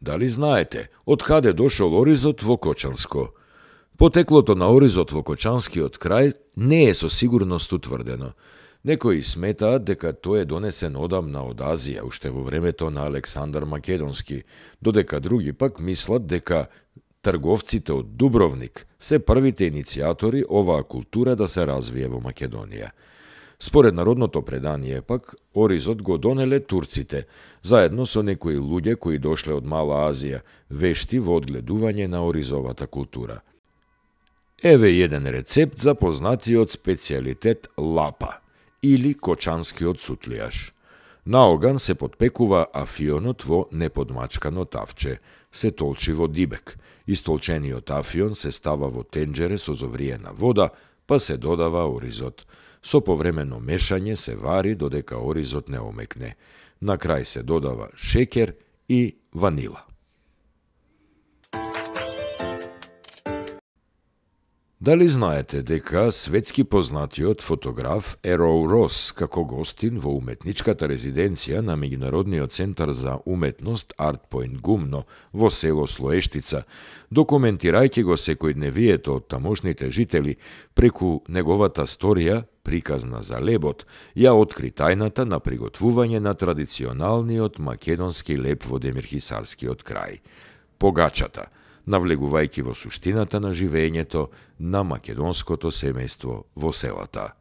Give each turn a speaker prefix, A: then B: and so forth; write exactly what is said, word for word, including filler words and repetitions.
A: Дали знаете, од каде дошол оризот во Кочанско? Потеклото на оризот во Кочанскиот крај не е со сигурност утврдено. Некои сметаат дека тој е донесен одамна од Азија, уште во времето на Александар Македонски, додека други пак мислат дека трговците од Дубровник се првите иницијатори оваа култура да се развие во Македонија. Според народното предание пак, оризот го донеле турците, заедно со некои луѓе кои дошле од Мала Азија, вешти во одгледување на оризовата култура. Еве еден рецепт за познатиот специјалитет лапа, или кочанскиот сутлијаш. На оган се подпекува афионот во неподмачкано тавче, се толчи во дибек. Истолчениот афион се става во тенџере со зовриена вода, па се додава оризот. Со повремено мешање се вари додека оризот не омекне. На крај се додава шеќер и ванила. Дали знаете дека светски познатиот фотограф Ероу Рос како гостин во уметничката резиденција на Меѓународниот центар за уметност Арт Поинт Гумно во село Слоештица, документирајќи го секојдневието од тамошните жители преку неговата сторија, приказна за лебот, ја откри тајната на приготвување на традиционалниот македонски леб во Демирхисарскиот крај – погачата, навлегувајќи во суштината на живеењето на македонското семејство во селата.